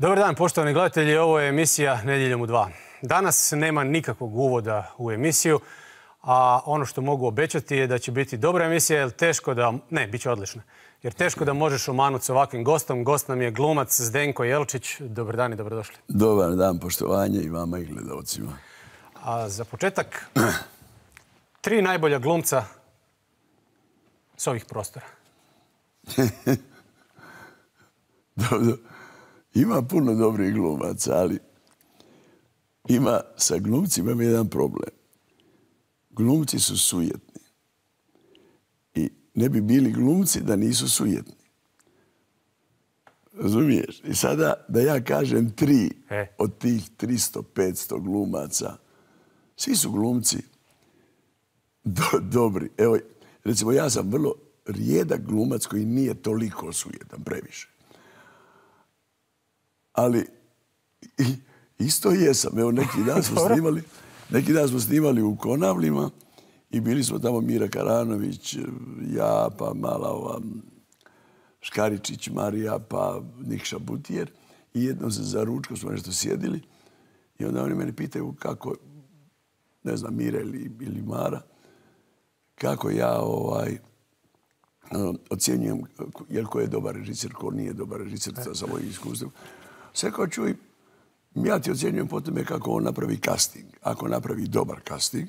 Dobar dan, poštovani gledatelji. Ovo je emisija Nedjeljom u 2. Danas nema nikakvog uvoda u emisiju, a ono što mogu obećati je da će biti dobra emisija, jer teško da... Ne, bit će odlična. Jer teško da možeš omanuti s ovakvim gostom. Gost nam je glumac Zdenko Jelčić. Dobar dan i dobrodošli. Dobar dan, poštovanje i vama i gledalcima. A za početak, 3 najbolja glumca s ovih prostora. Dobro. Ima puno dobrih glumaca, ali ima sa glumcima jedan problem. Glumci su sujetni. I ne bi bili glumci da nisu sujetni. Razumiješ? I sada da ja kažem 3 od tih 300-500 glumaca, svi su glumci dobri. Evo, recimo, ja sam vrlo rijedak glumac koji nije toliko sujetan, previše. Ali isto jesam. Evo, neki dan smo snimali u Konavlima i bili smo tamo Mira Karanović, ja, pa mala ova Škaričić Marija, pa Nikša Butijer. I jednom se za ručkom smo nešto sjedili i onda oni mene pitaju kako, ne znam, Mira ili Mara, kako ja ocjenjujem jel ko je dobar režiser, ko nije dobar režiser sa mojim iskustvom. Sve kao čuj, ja ti ocjenjujem po tome kako on napravi casting. Ako napravi dobar casting,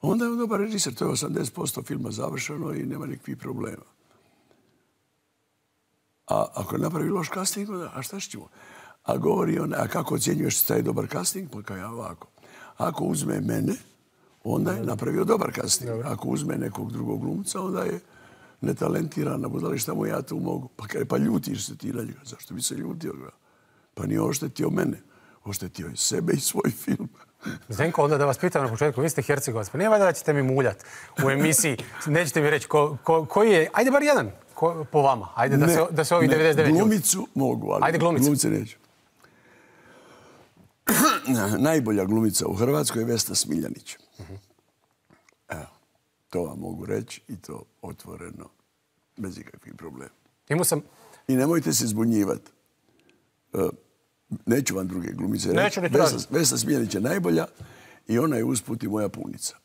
onda je on dobar režiser. To je 80% filma završeno i nema nikakvih problema. A ako napravi loš casting, onda, a šta ćemo? A govori on, a kako ocjenjuješ taj dobar casting? Pa kao ja ovako. Ako uzme mene, onda je napravio dobar casting. Ako uzme nekog drugog glumca, onda je netalentiran, budali šta mu ja tu mogu. Pa ljutiš se ti na njega. Zašto bi se ljutio? Pa nije oštetio mene. Oštetio je sebe i svoj film. Zdenko, onda da vas pitam na početku, vi ste Hercegovac, pa nije valjda da ćete mi muljati u emisiji. Nećete mi reći koji je, ajde bar jedan po vama. Ajde da se ovih 99 ljudi. Glumicu mogu, ali glumice neću. Najbolja glumica u Hrvatskoj je Vesna Smiljanić. Evo, to vam mogu reći i to otvoreno, bez ikakvih problema. I nemojte se zbunjivati. Neću vam druge glumice reći. Vesna Smiljanić je najbolja i ona je usput i moja punica.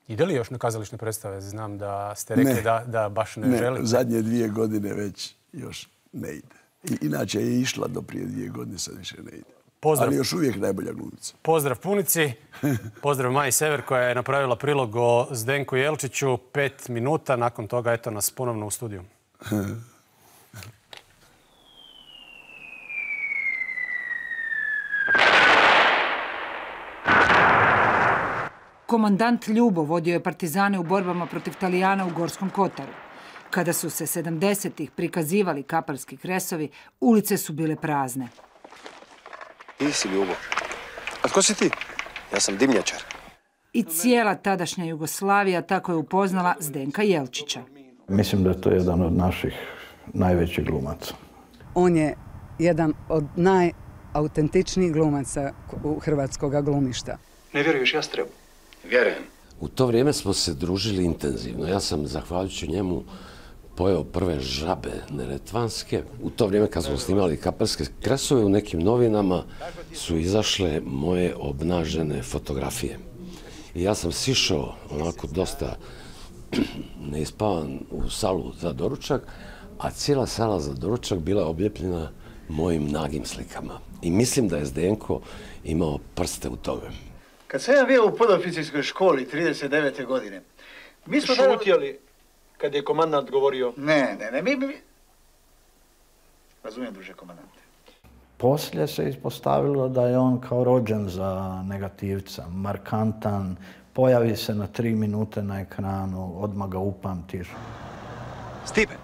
Ide li još na kazališne predstave? Znam da ste rekli da baš ne želite. Ne, zadnje 2 godine već još ne ide. Inače je išla do prije 2 godine, sad više ne ide. Ali još uvijek najbolja glumica. Pozdrav punici, pozdrav Maji Sever koja je napravila prilog o Zdenku Jelčiću. 5 minuta, nakon toga eto nas ponovno u studiju. Komandant Ljubo vodio je partizane u borbama protiv Talijana u Gorskom Kotaru. Kada su se 70-ih prikazivali kapalski kresovi, ulice su bile prazne. Ti si Ljubo. A tko si ti? Ja sam dimnjačar. I cijela tadašnja Jugoslavija tako je upoznala Zdenka Jelčića. Mislim da je to jedan od naših najvećih glumaca. On je jedan od najautentičnijih glumaca hrvatskog glumišta. Ne vjeruješ Jastrebu? Vjerujem. U to vrijeme smo se družili intenzivno. Ja sam, zahvaljujući njemu, pojeo prve žabe neretvanske. U to vrijeme kad smo snimali kapelske kresove, u nekim novinama su izašle moje obnažene fotografije. I ja sam sišao onako dosta neispavan u salu za doručak, a cijela sala za doručak bila obljepljena mojim nagim slikama. I mislim da je Zdenko imao prste u tome. Kad sam ja bio u podoficirskoj školi 39. godine, mi smo šutjeli kad je komandant govorio? Ne, mi... Razumijem, druže komandante. Poslije se ispostavilo da je on kao rođen za negativca, markantan, pojavi se na 3 minute na ekranu, odmah ga upamtiš. Stipe!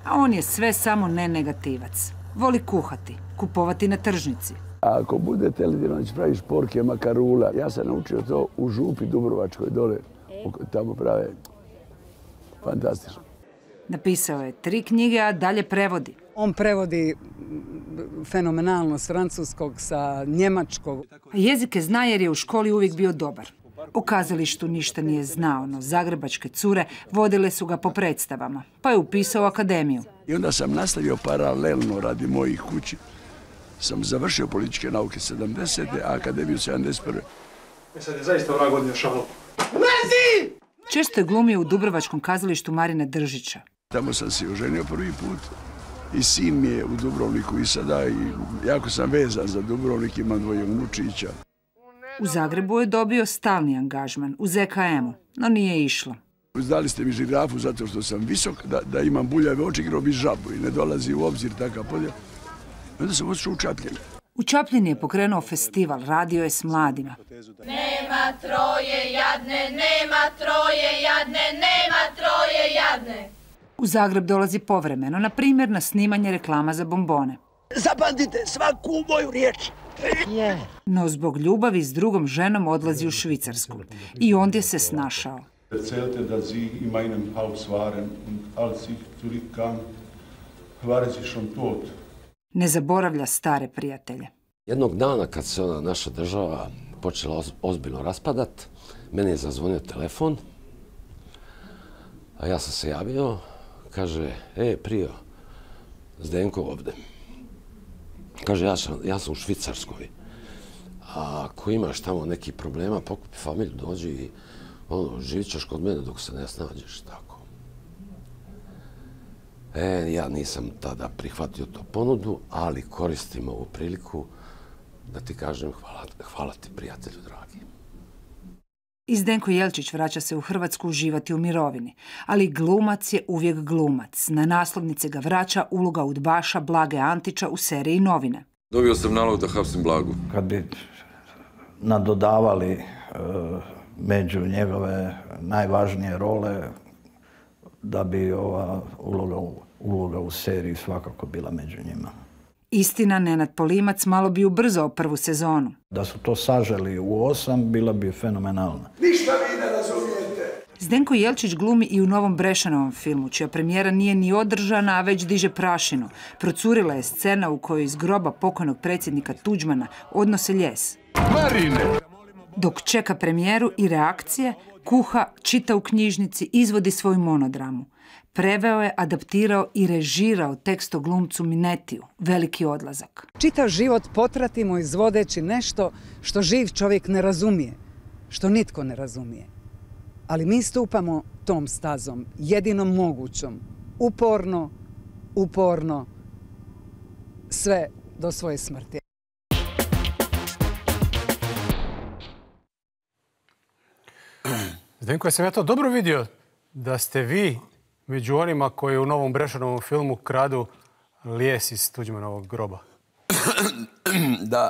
A on je sve samo ne negativac. Voli kuhati, kupovati na tržnici. Ako budete li da praviš porke makarula, ja sam naučio to u Župi Dubrovačkoj dole, tamo prave fantastično. Napisao je 3 knjige, a dalje prevodi. On prevodi fenomenalno s francuskog, sa njemačkog. A jezike zna jer je u školi uvijek bio dobar. O kazalištu ništa nije znao, no zagrebačke cure vodile su ga po predstavama, pa je upisao akademiju. I onda sam nastavio paralelno radi mojih kući. Sam završio političke nauke 70. a akademiju 71. Sad je zaista ona godina šalo. Često je glumio u dubrovačkom kazalištu Marina Držića. Tamo sam se oženio prvi put i sin mi je u Dubrovniku i sada i jako sam vezan za Dubrovnik, imam dvoje unučića. U Zagrebu je dobio stalni angažman u ZKM-u, no nije išlo. Dali ste mi žirafu zato što sam visok, da imam buljave oči, igrao bi žabu i ne dolazi u obzir takav podjel. Onda sam otišao u Čapljin. U Čapljini je pokrenuo festival, radio je s mladima. Nema troje jadne, nema troje jadne, nema troje jadne. U Zagreb dolazi povremeno, na primjer na snimanje reklama za bombone. Zapamtite svaku moju riječ. No zbog ljubavi s drugom ženom odlazi u Švicarsku i ondje se snašao. Erzählte, dass sie in meinem Haus waren und als ich zurückkam, waren sie schon tot. Ne zaboravlja stare prijatelje. Jednog dana kad se ona naša država počela ozbiljno raspadat, meni je zazvonio telefon, a ja sam se javio, kaže, Prio, Zdenko ovdje. Kaže, ja sam u Švicarskoj. A ako imaš tamo neki problema, pokupi familiju, dođi i živit ćeš kod mene dok se ne snađeš, tako. Ja nisam tada prihvatio tu ponudu, ali koristim ovu priliku da ti kažem hvala ti, prijatelju dragi. I Zdenko Jelčić vraća se u Hrvatsku uživati u mirovini, ali glumac je uvijek glumac. Na naslovnice ga vraća uloga udbaša Blage Antića u seriji Novine. Dobio sam nalog da hapsim Blagu. Kad bi nadodavali među njegove najvažnije role, da bi ova uloga u seriji svakako bila među njima. Istina, Nenad Polimac malo bi ubrzao prvu sezonu. Da su to saželi u 8, bila bi fenomenalna. Ništa vi ne razumijete! Zdenko Jelčić glumi i u novom Brešanovom filmu, čija premijera nije ni održana, a već diže prašinu. Procurila je scena u kojoj iz groba pokojnog predsjednika Tuđmana odnose ljes. Marine! Dok čeka premijeru i reakcije, kuha, čita u knjižnici, izvodi svoju monodramu. Preveo je, adaptirao i režirao tekst o glumcu Minetiju, Veliki odlazak. Čitav život potratimo izvodeći nešto što živ čovjek ne razumije, što nitko ne razumije. Ali mi stupamo tom stazom, jedinom mogućom, uporno, sve do svoje smrti. Zdenko, sam ja to dobro vidio da ste vi među onima koji u novom Brešanovom filmu kradu lijes iz Tuđmanovog groba. Da,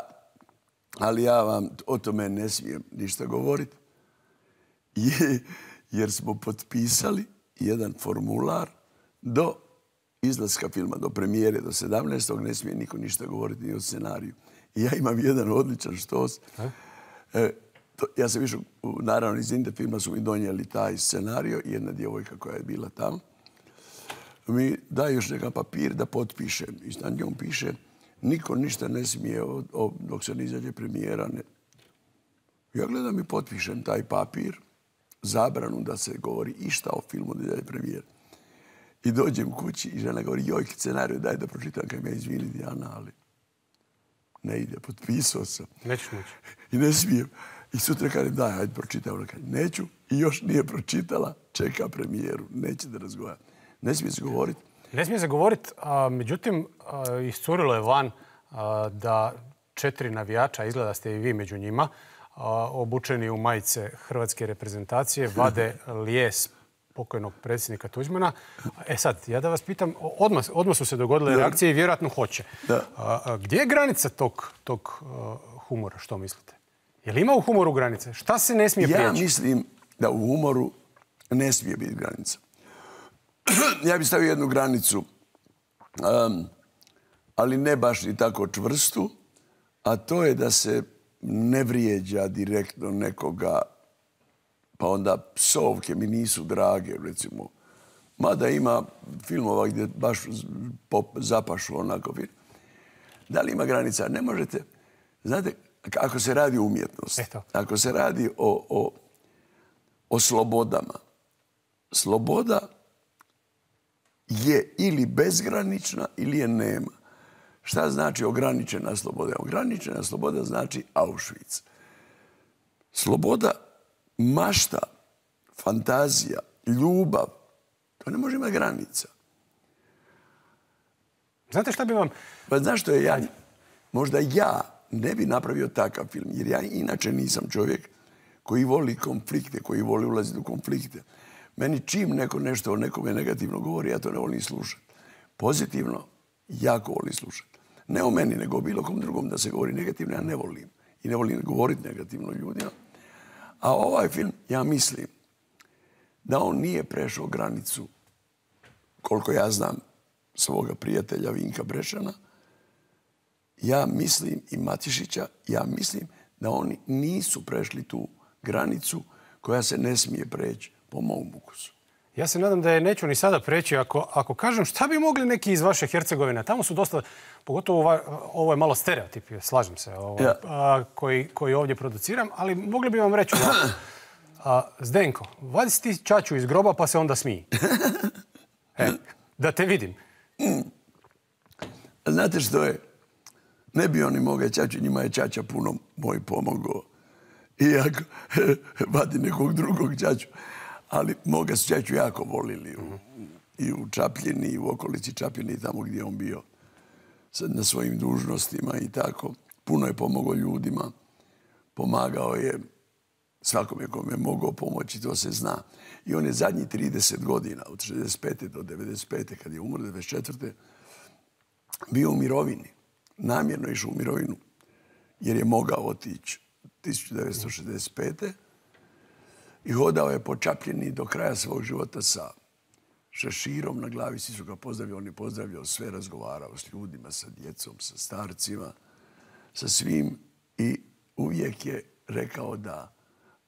ali ja vam o tome ne smijem ništa govoriti. Jer smo potpisali jedan formular do izlaska filma, do premijere, do 17. ne smije niko ništa govoriti ni o scenariju. I ja imam jedan odličan štos. Ja sam išao, naravno iz Inde filma su mi donijeli taj scenario i jedna djevojka koja je bila tamo mi daje još neka papir da potpišem. I na njom piše niko ništa ne smije dok se ne izađe premijera. Ja gledam i potpišem taj papir, zabranu da se govori išta o filmu da izađe premijera. I dođem kući i žena govori joj, scenariju daj da pročitam kaj me izvini Dijana, ali ne ide, potpisao sam. Nećeš moći. I ne smijem. I sutra kažem, daj, hajde pročitaj. Ona kaže, neću. I još nije pročitala, čeka premijeru. Neće da razgovara. Ne smije se govoriti. Ne smije se govoriti, međutim, iscurilo je van da 4 navijača, izgleda ste i vi među njima, obučeni u majice hrvatske reprezentacije, vade lijes pokojnog predsjednika Tuđmana. Sad, ja da vas pitam, odmah su se dogodile reakcije i vjerojatno hoće. Gdje je granica tog humora, što mislite? Je li ima u humoru granice? Šta se ne smije prijeći? Ja mislim da u humoru ne smije biti granica. Ja bih stavio jednu granicu, ali ne baš ni tako čvrstu, a to je da se ne vrijeđa direktno nekoga, pa onda psovke mi nisu drage, recimo. Mada ima filmova gdje baš zapašu onako. Da li ima granica? Ne možete. Znate, ako se radi o umjetnosti, ako se radi o o slobodama. Sloboda je ili bezgranična ili je nema. Šta znači ograničena sloboda? Ograničena sloboda znači Auschwitz. Sloboda, mašta, fantazija, ljubav, to ne može imati granica. Znate šta bi vam... Pa znaš što je možda ja ne bi napravio takav film, jer ja inače nisam čovjek koji voli konflikte, koji voli ulaziti u konflikte. Meni čim neko nešto o nekome negativno govori, ja to ne volim slušati. Pozitivno, jako volim slušati. Ne o meni, nego o bilo kom drugom da se govori negativno, ja ne volim. I ne volim govoriti negativno ljudima. A ovaj film, ja mislim da on nije prešao granicu, koliko ja znam, svoga prijatelja Vinka Brešana. Ja mislim, i Matišića, ja mislim da oni nisu prešli tu granicu koja se ne smije preći po mom ukusu. Ja se nadam da je neću ni sada preći. Ako kažem šta bi mogli neki iz vaše Hercegovine, tamo su dosta, pogotovo ovo je malo stereotip, slažem se, koji ovdje produciram, ali mogli bi vam reći Zdenko, vadi si ti čaču iz groba pa se onda smiji. Da te vidim. Znate što je? Ne bi oni moga čaču, njima je čača puno moj pomogao. Iako vadi nekog drugog čaču. Ali moga su čaču jako volili. I u Čapljini, i u okolici Čapljini, tamo gdje je on bio na svojim dužnostima i tako. Puno je pomogao ljudima. Pomagao je svakome kome je mogao pomoći, to se zna. I on je zadnjih 30 godina, od 65. do 95. kad je umro 94. bio u mirovini. Namjerno išao u mirovinu jer je mogao otići 1965. I hodao je po Čapljini do kraja svog života sa šeširom na glavi. Svi su ga pozdravili, on je pozdravljao sve, razgovarao s ljudima, sa djecom, sa starcima, sa svim. I uvijek je rekao da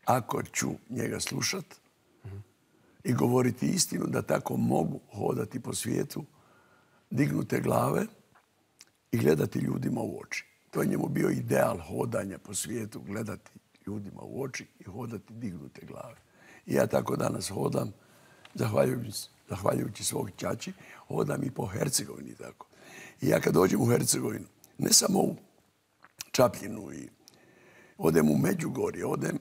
ako ću njega slušat i govoriti istinu, da tako mogu hodati po svijetu, dignute glave i gledati ljudima u oči. To je njemu bio ideal hodanja po svijetu, gledati ljudima u oči i hodati dignute glave. I ja tako danas hodam, zahvaljujući svog čači, hodam i po Hercegovini tako. I ja kad dođem u Hercegovinu, ne samo u Čapljinu, i odem u Međugorje, odem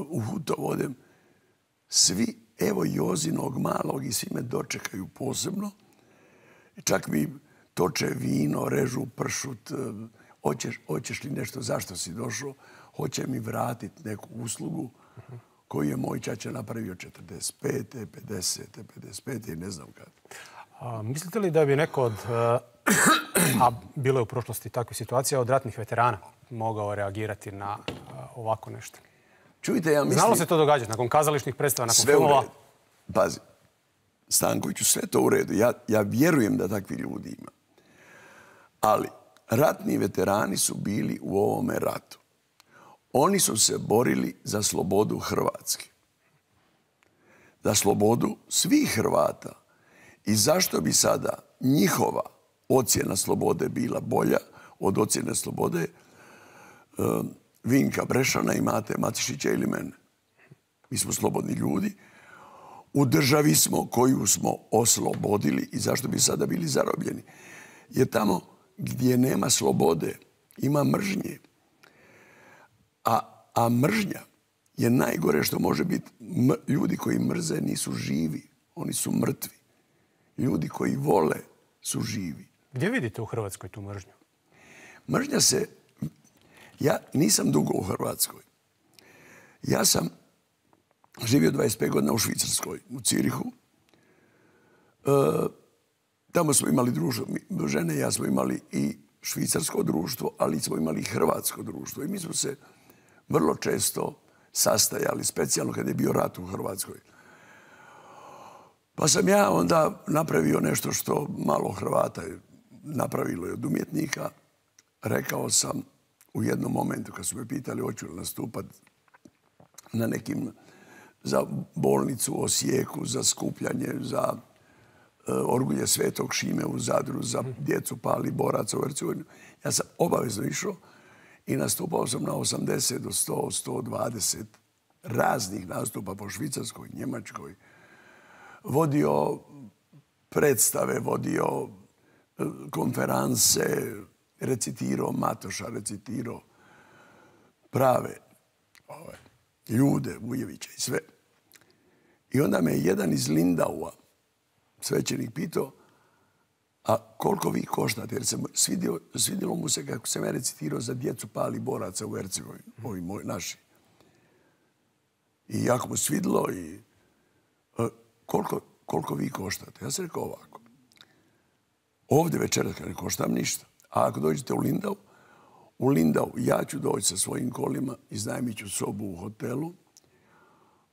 u Hutov, odem, svi, evo Jozinog malog, i svi me dočekaju posebno. Čak mi toče vino, režu pršut, hoćeš li nešto, zašto si došao, hoće mi vratiti neku uslugu koju je moj čača napravio 45. 50. 55. i ne znam kad. Mislite li da bi neko od, a bilo je u prošlosti takve situacije, od ratnih veterana mogao reagirati na ovako nešto? Čujte, ja mislim... Znalo se to događati nakon kazališnih predstava, nakon sve filmova? U redu. Pazi, Stankoviću, sve to u redu. Ja vjerujem da takvi ljudi ima. Ali ratni veterani su bili u ovome ratu. Oni su se borili za slobodu Hrvatske. Za slobodu svih Hrvata. I zašto bi sada njihova ocjena slobode bila bolja od ocjene slobode Vinka Brešana i Mate Matišića ili mene? Mi smo slobodni ljudi. U državi smo koju smo oslobodili i zašto bi sada bili zarobljeni? Jer tamo gdje nema slobode ima mržnje. A mržnja je najgore što može biti. Ljudi koji mrze nisu živi. Oni su mrtvi. Ljudi koji vole su živi. Gdje vidite u Hrvatskoj tu mržnju? Mržnja se... Ja nisam dugo u Hrvatskoj. Ja sam živio 25 godina u Švicarskoj, u Cirihu. Tamo smo imali društvo. Žene i ja smo imali i švicarsko društvo, ali smo imali i hrvatsko društvo. I mi smo se vrlo često sastajali, specijalno kad je bio rat u Hrvatskoj. Pa sam ja onda napravio nešto što malo Hrvata je napravilo i od umjetnika. Rekao sam u jednom momentu kad su me pitali hoću li nastupat na nekim, za bolnicu u Osijeku, za skupljanje, za orgulje Svetog Šime u Zadru, za djecu pali boraca u Hercegovini. Ja sam obavezno išao i nastupao sam na 80 do 100, 120 raznih nastupa po Švicarskoj, Njemačkoj, vodio predstave, vodio konferanse, recitirao Matoša, recitirao prave ljude, Vujevića i sve. I onda me jedan iz Lindaua, svećenik, pitao, a koliko vi koštate? Jer se svidjelo mu se kako sam ja recitirao za djecu pali boraca u Hercegovini, ovi moji naši. I jako mu svidjelo i koliko vi koštate? Ja sam rekao ovako. Ovdje večeras ne koštam ništa. A ako dođete u Lindau ja ću doći sa svojim kolima, iznajmit ću sobu u hotelu,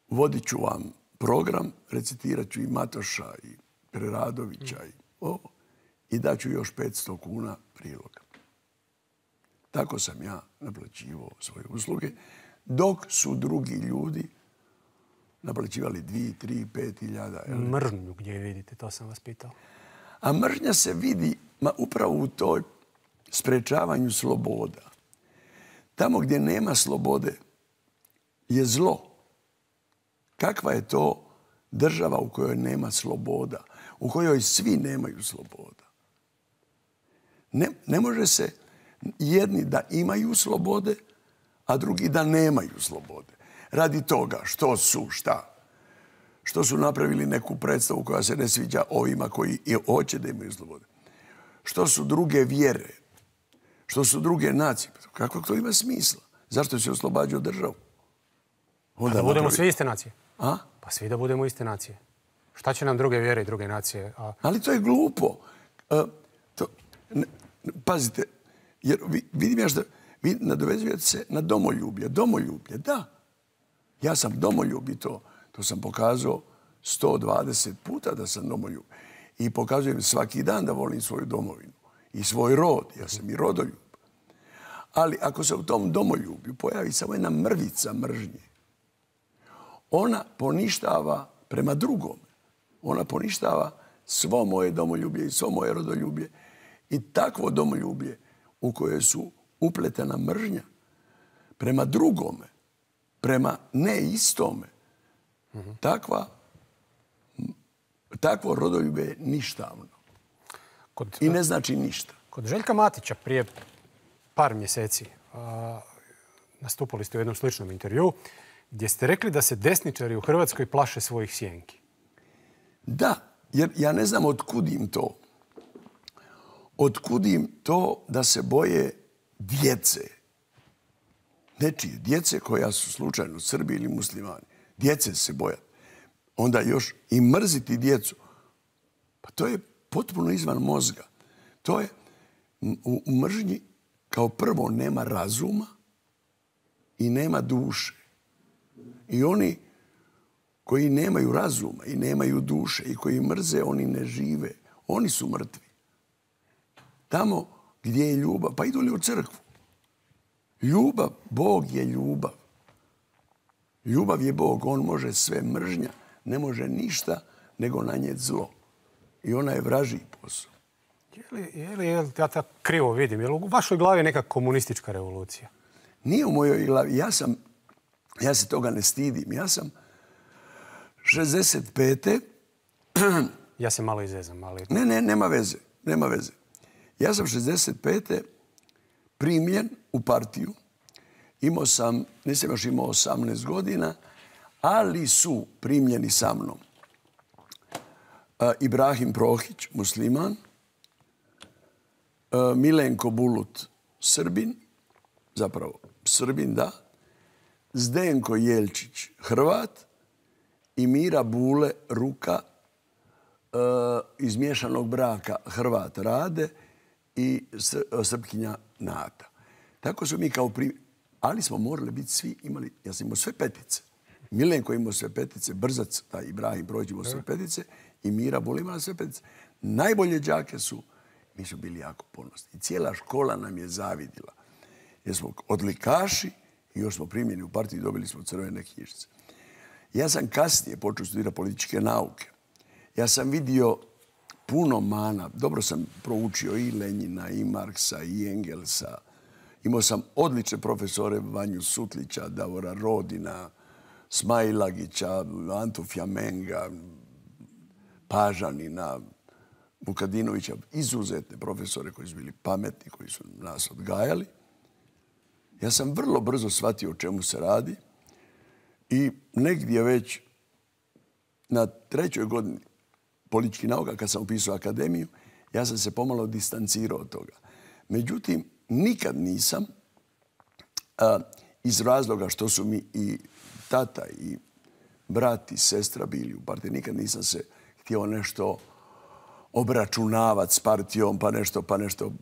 vodit ću vam program, recitirat ću i Matoša i Preradovića i daću još 500 kuna priloga. Tako sam ja naplaćivao svoje usluge, dok su drugi ljudi naplaćivali 2, 3, 5 hiljada. Mržnju gdje vidite, to sam vas pitao. A mržnja se vidi upravo u toj sprečavanju sloboda. Tamo gdje nema slobode je zlo. Kakva je to država u kojoj nema sloboda, u kojoj svi nemaju sloboda? Ne može se jedni da imaju slobode, a drugi da nemaju slobode. Radi toga što su napravili neku predstavu koja se ne sviđa ovima koji hoće da imaju slobode. Što su druge vjere, što su druge nacije. Kako to ima smisla? Zašto se oslobađao državu? Da budemo svi iste nacije. A? Pa svi da budemo iste nacije. Šta će nam druge vjere i druge nacije? Ali to je glupo. Pazite, jer vidim ja što vi nadovezujete se na domoljublje. Domoljublje, da. Ja sam domoljub i to sam pokazao 120 puta da sam domoljub. I pokazujem svaki dan da volim svoju domovinu i svoj rod. Ja sam i rodoljub. Ali ako se u tom domoljublju pojavi samo jedna mrvica mržnje, ona poništava prema drugome. Ona poništava svo moje domoljublje i svo moje rodoljublje. I takvo domoljublje u koje su upletena mržnja prema drugome, prema neistome, takvo rodoljublje je ništavno. I ne znači ništa. Kod Željka Matića prije par mjeseci nastupali ste u jednom sličnom intervjuu gdje ste rekli da se desničari u Hrvatskoj plaše svojih sjenki. Da, jer ja ne znam otkud im to. Otkud im to da se boje djece. Nečije djece koja su slučajno Srbi ili muslimani. Djece se bojati. Onda još i mrziti djecu. Pa to je potpuno izvan mozga. To je u mržnji kao prvo nema razuma i nema duše. I oni koji nemaju razuma i nemaju duše i koji mrze, oni ne žive. Oni su mrtvi. Tamo gdje je ljubav, pa idu li u crkvu? Ljubav, Bog je ljubav. Ljubav je Bog, on može sve. Mržnja ne može ništa nego nanijeti zlo. I ona je vražiji posao. Je li ja tako krivo vidim? Je li u vašoj glavi neka komunistička revolucija? Nije u mojoj glavi. Ja se toga ne stidim. Ja sam 65. Ja se malo izezam, ali... Ne, nema veze. Nema veze. Ja sam 65. primljen u partiju. Nisam još imao 18 godina, ali su primljeni sa mnom Ibrahim Prohić, musliman, Milenko Bulut, Srbin, zapravo Srbin, da, Zdenko Jelčić, Hrvat i Mira Bule, Ruka, iz miješanog braka Hrvat Rade i Srpkinja Nata. Tako su mi kao ali smo morali biti svi imali, ja sam imao sve petice. Milenko imao sve petice, Brzac, taj Ibrahim Prohić imao sve petice i Mira Bule imala sve petice. Najbolje đake mi su bili jako ponosni. I cijela škola nam je zavidila. Jer smo odlikaši i još smo primljeni u partiju i dobili smo crvene knjižice. Ja sam kasnije počeo studirati političke nauke. Ja sam vidio puno mana. Dobro sam proučio i Lenjina, i Marksa, i Engelsa. Imao sam odlične profesore Vanju Sutlića, Davora Rodina, Smailagića, Antu Fjamenga, Pažanina, Vukadinovića, izuzetne profesore koji su bili pametni, koji su nas odgajali. Ja sam vrlo brzo shvatio o čemu se radi i negdje već na 3. godini političkih nauka, kad sam upisao akademiju, ja sam se pomalo distancirao od toga. Međutim, nikad nisam, iz razloga što su mi i tata i brat i sestra bili u partiji, nikad nisam se htio nešto obračunavati s partijom, pa nešto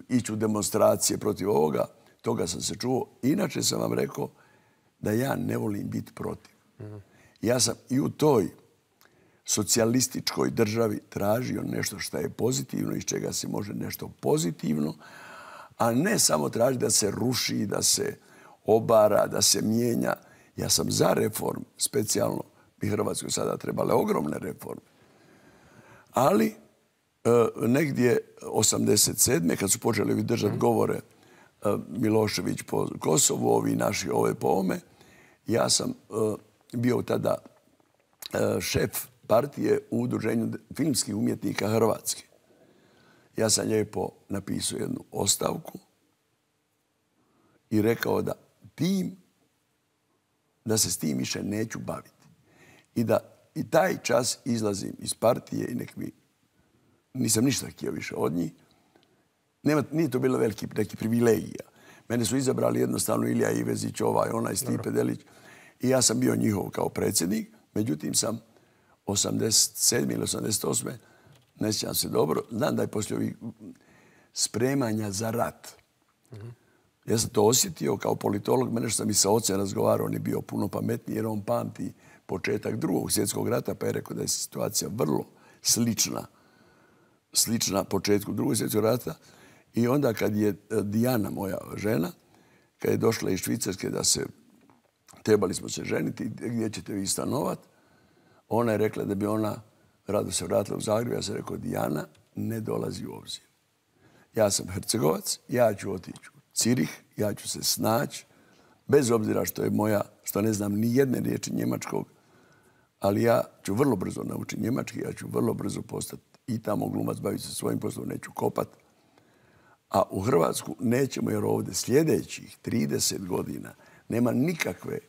ići u demonstracije protiv ovoga. Toga sam se čuo. Inače sam vam rekao da ja ne volim biti protiv. Ja sam i u toj socijalističkoj državi tražio nešto što je pozitivno, iz čega se može nešto pozitivno, a ne samo tražiti da se ruši, da se obara, da se mijenja. Ja sam za reform, specijalno bi Hrvatskoj sada trebale ogromne reforme. Ali negdje 87. kad su počeli držati govore Milošević po Kosovu, ovi naši ove po ome, ja sam bio tada šef partije u Udruženju filmskih umjetnika Hrvatske. Ja sam lijepo napisao jednu ostavku i rekao da se s tim više neću baviti. I da i taj čas izlazim iz partije i nisam ništa htio više od njih. Nije to bilo neki privilegija. Mene su izabrali jednostavno Ilija Ivezić, onaj Stipe Delić. I ja sam bio njihov kao predsjednik. Međutim, sam 87. ili 88. ne sjećam se dobro. Znam da je poslije ovih spremanja za rat. Ja sam to osjetio kao politolog. Mene što sam i sa ocem razgovarao, on je bio puno pametniji jer on pamti početak Drugog svjetskog rata, pa je rekao da je situacija vrlo slična početku Drugog svjetskog rata. I onda kad je Dijana, moja žena, kad je došla iz Švicarske trebali smo se ženiti, gdje ćete vi stanovati, ona je rekla da bi ona rado se vratila u Zagreb. Ja sam rekao, Dijana, ne dolazi u obzir. Ja sam Hercegovac, ja ću otići u Cirih, ja ću se snaći, bez obzira što ne znam ni jedne riječi njemačkog, ali ja ću vrlo brzo naučiti njemački, ja ću vrlo brzo postati i tamo glumac, baviti se svojim poslom, neću kopat. A u Hrvatsku nećemo, jer ovdje sljedećih 30 godina nema nikakve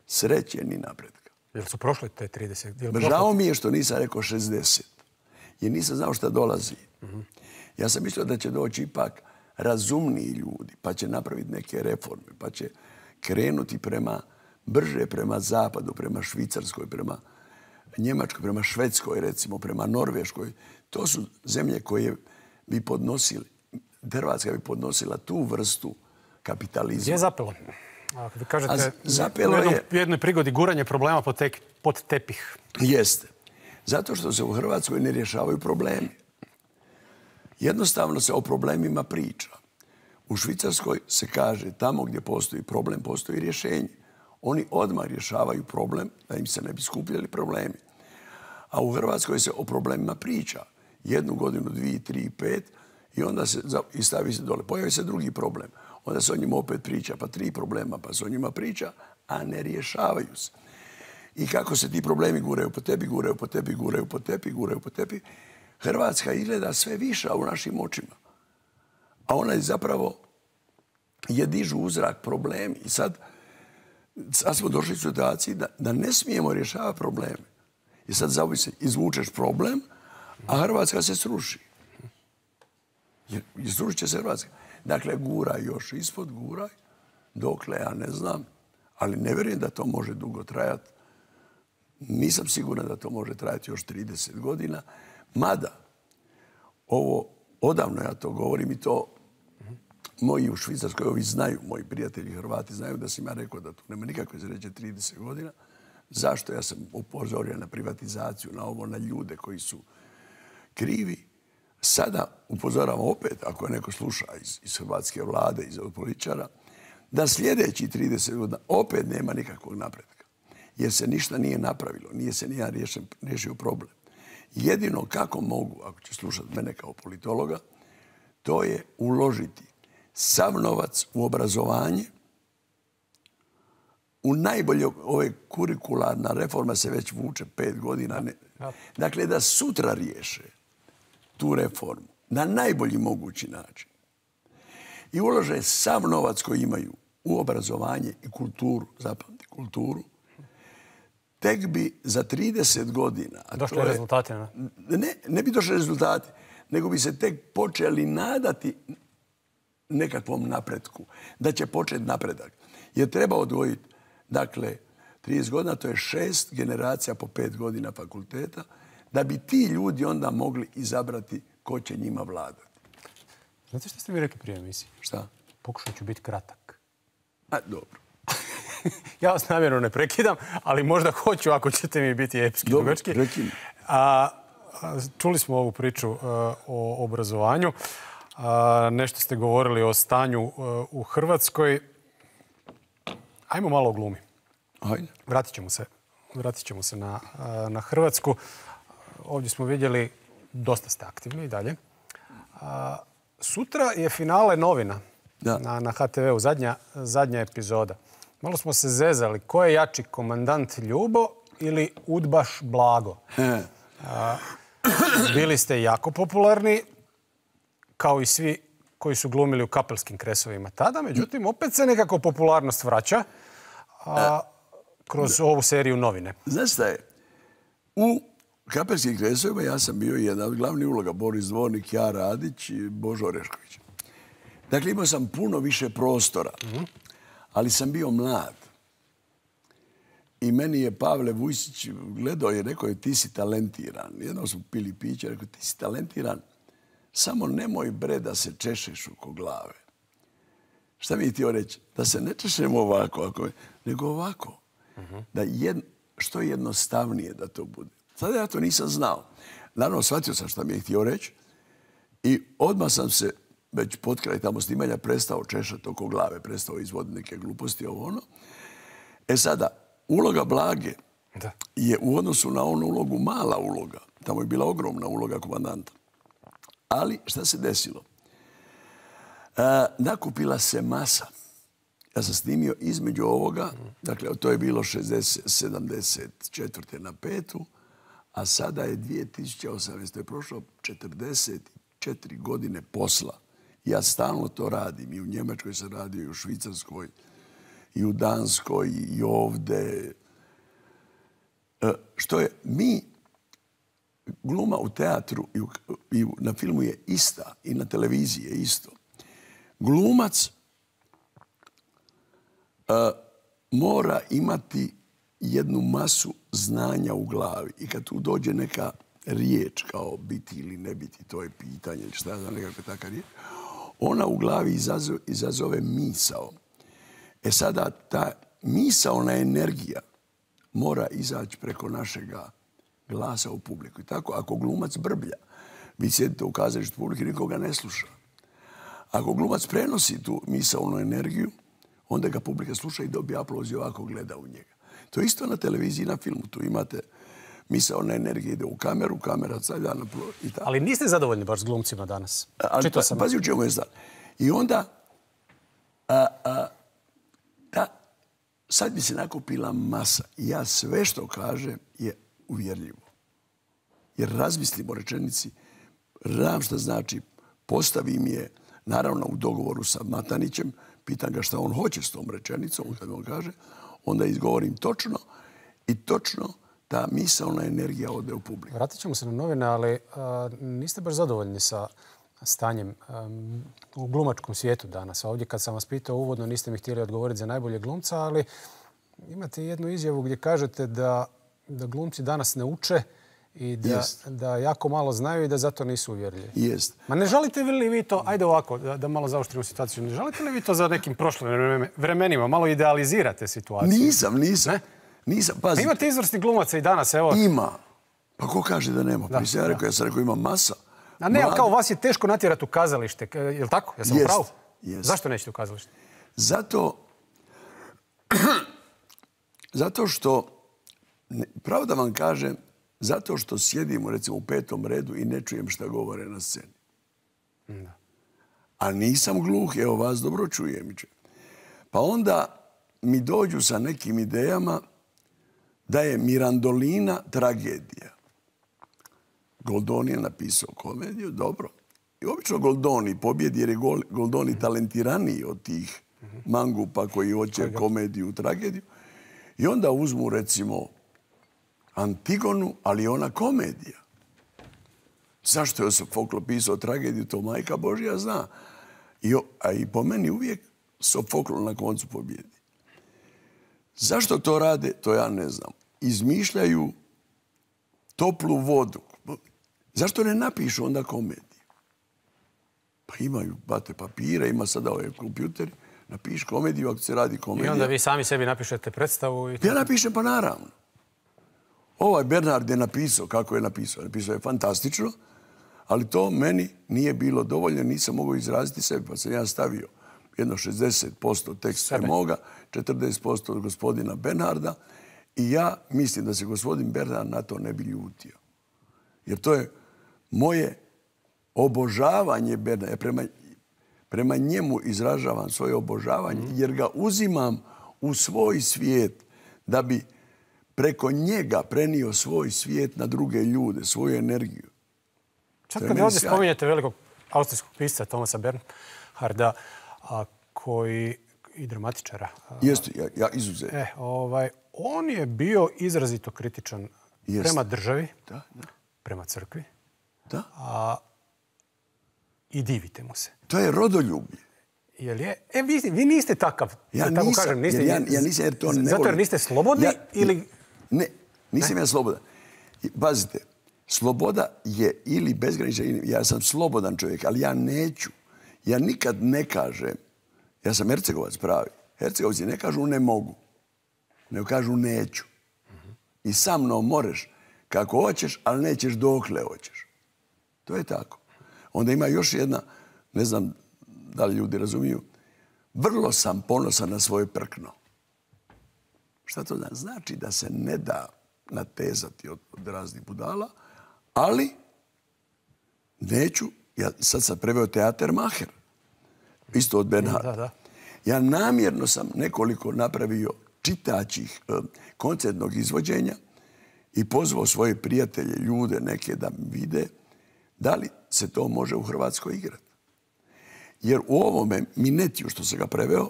sreće ni napretka. Jel su prošle te 30? Žao mi je što nisam rekao 60. Jer nisam znao šta dolazi. Ja sam mislio da će doći ipak razumniji ljudi, pa će napraviti neke reforme, pa će krenuti brže prema zapadu, prema Švicarskoj, prema Njemačkoj, prema Švedskoj, recimo, prema Norveškoj. To su zemlje koje bi podnosili, Hrvatska bi podnosila tu vrstu kapitalizma. Gdje je zapelo? Vi kažete u jednoj prigodi guranje problema pod tepih. Jeste. Zato što se u Hrvatskoj ne rješavaju problemi. Jednostavno se o problemima priča. U Švicarskoj se kaže tamo gdje postoji problem, postoji rješenje. Oni odmah rješavaju problem da im se ne bi skupljali problemi. A u Hrvatskoj se o problemima priča. 1 godinu, 2, 3, 5 i onda se stavi se dole. Pojavi se drugi problem. Onda se o njima opet priča, pa 3 problema, pa se o njima priča, a ne rješavaju se. I kako se ti problemi guraju po tebi, guraju po tebi, guraju po tebi, guraju po tebi, Hrvatska izgleda sve viša u našim očima. A ona je zapravo dižu u zrak problemi. I sad smo došli u situaciji da ne smijemo rješavati probleme. I sad izvučeš problem, a Hrvatska se sruši. I srušit će se Hrvatska. Dakle, guraj još ispod, guraj. Dokle, ja ne znam. Ali ne vjerujem da to može dugo trajati. Nisam siguran da to može trajati još 30 godina. Mada, odavno ja to govorim i to moji u Švicarskoj, ovi znaju, moji prijatelji Hrvati znaju da sam ja rekao da tu nema nikakve sreće 30 godina. Zašto? Ja sam upozorio na privatizaciju, na ovo, na ljude koji su krivi. Sada upozoravam opet, ako je neko sluša iz hrvatske vlade, iz političara, da sljedeći 30 godina opet nema nikakvog napretka. Jer se ništa nije napravilo, nije se nijedan riješio problem. Jedino kako mogu, ako će slušati mene kao politologa, to je uložiti sav novac u obrazovanje, u najbolje, ove kurikularna reforma se već vuče 5 godina. Dakle, da sutra riješe tu reformu na najbolji mogući način i ulože sav novac koji imaju u obrazovanje i kulturu, zapamti kulturu, tek bi za 30 godina... Došli rezultati, ne? Ne bi došli rezultati, nego bi se tek počeli nadati nekakvom napretku, da će početi napredak. Jer treba odvojiti, dakle, 30 godina, to je 6 generacija po 5 godina fakulteta, da bi ti ljudi onda mogli izabrati ko će njima vladati. Znate što ste mi rekli prije emisije? Šta? Pokušat ću biti kratak. Dobro. Ja vas namjerno ne prekidam, ali možda hoću ako ćete mi biti epski dugački. Prekini. Čuli smo ovu priču o obrazovanju. Nešto ste govorili o stanju u Hrvatskoj. Ajmo malo o glumi. Ajde. Vratit ćemo se na Hrvatsku. Ovdje smo vidjeli, dosta ste aktivni i dalje. Sutra je finale novina na HTV-u, zadnja epizoda. Malo smo se zezali. Ko je jači, komandant Ljubo ili udbaš Blago? Bili ste jako popularni, kao i svi koji su glumili u Kapelskim kresovima tada. Međutim, opet se nekako popularnost vraća kroz ovu seriju novine. Znaš šta je? U Kapelskim kresovima ja sam bio jedna od glavnih uloga. Boris Dvornik, ja Radić i Božo Orešković. Dakle, imao sam puno više prostora, ali sam bio mlad. I meni je Pavle Vujsić gledao i rekao je ti si talentiran. Jednom smo pili piće, rekao ti si talentiran, samo nemoj bre da se češeš oko glave. Šta mi je htio reći? Da se ne češemo ovako, nego ovako. Da što jednostavnije da to bude. Sada ja to nisam znao. Naravno, shvatio sam šta mi je htio reći i odmah sam se već pod kraj tamo snimanja prestao češati oko glave, prestao izvoditi neke gluposti, ovo ono. Sada, uloga Blage je u odnosu na onu ulogu mala uloga. Tamo je bila ogromna uloga komandanta. Ali šta se desilo? Nakupila se masa. Ja sam snimio između ovoga, dakle to je bilo 74. na 5. A sada je 2018. je prošlo 44 godine posla. Ja stalno to radim. I u Njemačkoj sam radio, i u Švicarskoj, i u Danskoj, i ovdje. Što je, gluma u teatru i na filmu je ista, i na televiziji je isto. Glumac mora imati jednu masu znanja u glavi. I kad tu dođe neka riječ kao biti ili ne biti, to je pitanje, šta ja znam, nekakva taka riječ, ona u glavi izazove misao. Sada ta misaona energija mora izaći preko našega glasa u publiku. I tako, ako glumac brblja, vi sjedite u kazalištu publike, nikoga ne sluša. Ako glumac prenosi tu misaonu energiju, onda ga publika sluša i dobije aplauz i ovako gleda u njega. To je isto na televiziji i na filmu. Tu imate misaona energija ide u kameru, kamera stavlja na plov i tako. Ali niste zadovoljni baš s glumcima danas? Pazi u čemu je stvar. I onda sad bi se nakupila masa. I ja sve što kažem je uvjerljivo. Jer razmislim o rečenici, znam šta znači, postavim je, naravno u dogovoru sa Matanićem, pitam ga šta on hoće s tom rečenicom, kad on kaže, onda izgovorim točno i točno ta misaona energija ode u publiku. Vratit ćemo se na novine, ali niste baš zadovoljni sa stanjem u glumačkom svijetu danas. Ovdje kad sam vas pitao uvodno, niste mi htjeli odgovoriti za najbolje glumca, ali imate jednu izjavu gdje kažete da glumci danas ne uče i da jako malo znaju i da zato nisu uvjerljivi. Jest. Ma ne žalite li vi to, ajde ovako, da malo zaoštrimo situaciju, ne žalite li vi to za nekim prošlim vremenima, malo idealizirate situaciju? Nisam. Nisam, pazi. Imate izvrsni glumaca i danas, evo. Ima. Pa ko kaže da nema? Ja sam rekao ima masa. A ne, ali kao vas je teško natjerati u kazalište, je li tako? Ja sam u pravu? Zašto nećete u kazalište? Zato što, pravo da vam kažem, zato što sjedimo recimo u 5. redu i ne čujem šta govore na sceni. A nisam gluh, evo vas dobro čujem. Pa onda mi dođu sa nekim idejama da je Mirandolina tragedija. Goldoni je napisao komediju, dobro. I obično Goldoni pobjedi jer je Goldoni talentiraniji od tih mangupa koji hoće komediju, tragediju. I onda uzmu, recimo, Antigonu, ali ona komedija. Zašto je Sofoklo pisao tragediju, to majka Božja zna. A i po meni uvijek Sofoklo na koncu pobjedi. Zašto to rade, to ja ne znam. Izmišljaju toplu vodu. Zašto ne napišu onda komediju? Pa imaju bate papira, ima sada ovaj kompjuter. Napiši komediju ako se radi komedija. I onda vi sami sebi napišete predstavu? Ja napišem, pa naravno. Ovaj Bernard je napisao kako je napisao. Napisao je fantastično, ali to meni nije bilo dovoljno. Nisam mogao izraziti sebi, pa sam ja stavio jedno 60% teksta moga, 40% od gospodina Bernarda i ja mislim da se gospodin Bernard na to ne bi ljutio. Jer to je moje obožavanje Bernarda. Prema njemu izražavam svoje obožavanje jer ga uzimam u svoj svijet da bi preko njega prenio svoj svijet na druge ljude, svoju energiju. Sad kad ovdje spominjete velikog austrijskog pisca Thomasa Bernharda, koji i dramatičara. Jeste, ja izuzetno. On je bio izrazito kritičan prema državi, prema crkvi. I divite mu se. To je rodoljublje. Vi niste takav. Ja nisam, jer to ne volim. Zato jer niste slobodni ili... Ne, nisam ja slobodan. Pazite, sloboda je ili bezgranična, ja sam slobodan čovjek, ali ja neću. Ja nikad ne kažem, ja sam Hercegovac pravi. Hercegovci ne kažu ne mogu, nego kažu neću. I sa mnom moreš kako hoćeš, ali nećeš dokle hoćeš. To je tako. Onda ima još jedna, ne znam da li ljudi razumiju, vrlo sam ponosan na svoje prkno. Šta to znači? Znači da se ne da natezati od raznih budala, ali neću, ja sad sam preveo teater Maher, isto od Bernharda. Ja namjerno sam nekoliko napravio čitaćih koncertnog izvođenja i pozvao svoje prijatelje, ljude neke da vide da li se to može u Hrvatskoj igrati. Jer u ovome Minetiju što sam ga preveo,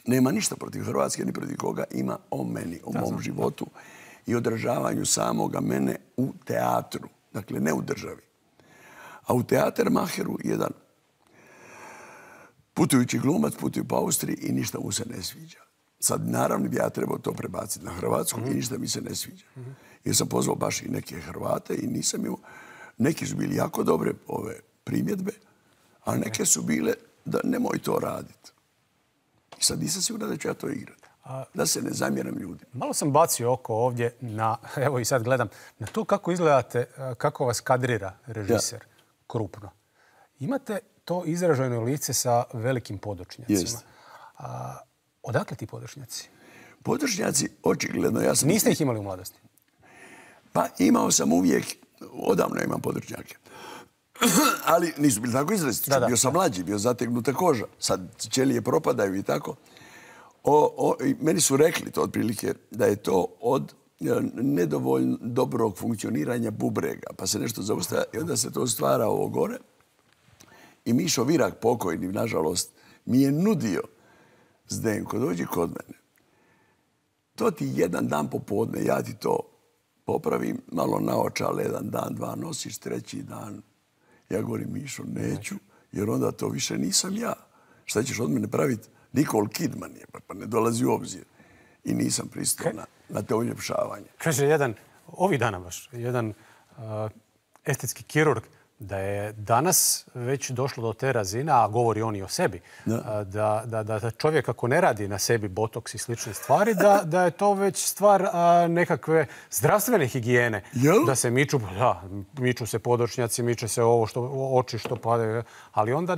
nema ništa protiv Hrvatske, ni protiv koga, ima o meni, o mom životu i odražavanju samoga mene u teatru. Dakle, ne u državi. A u teatar Maheru jedan putujući glumac putuje po Austriji i ništa mu se ne sviđa. Sad, naravno, bi ja trebao to prebaciti na Hrvatsku i ništa mi se ne sviđa. Jer sam pozvao baš i neke Hrvate i nisam imao... Neki su bili jako dobre ove primjedbe, a neke su bile da nemoj to raditi. I sad nisam siguran da ću ja to igrati. Da se ne zamjeram ljudima. Malo sam bacio oko ovdje na, evo i sad gledam, na to kako izgledate, kako vas kadrira režiser krupno. Imate to izraženo lice sa velikim podočnjacima. Odakle ti podočnjaci? Podočnjaci, očigledno, ja sam... Niste ih imali u mladosti? Pa imao sam uvijek, odavno imam podočnjake. Ali nisu bili tako izraziti. Bio sam mlađi, bio zategnuta koža. Sad ćelije propadaju i tako. Meni su rekli to otprilike da je to od nedovoljno dobrog funkcioniranja bubrega. Pa se nešto zaustavlja i onda se to stvara ovo gore. I Mišo Virak, pokojni, nažalost, mi je nudio: Zdenko, dođi kod mene. To ti jedan dan popodne, ja ti to popravim, malo naočale, jedan dan, dva nosiš, treći dan. Ja govorim: Mišo, neću, jer onda to više nisam ja. Šta ćeš od mene praviti? Nicole Kidman je, pa ne dolazi u obzir. I nisam pristao na te uljepšavanje. Kaže jedan, ovih dana baš, jedan estetski kirurg, da je danas već došlo do te razine, a govori on i o sebi, da čovjek ako ne radi na sebi botoks i slične stvari, da je to već stvar nekakve zdravstvene higijene. Da se miču se podočnjaci, miče se ovo oči što padaju, ali onda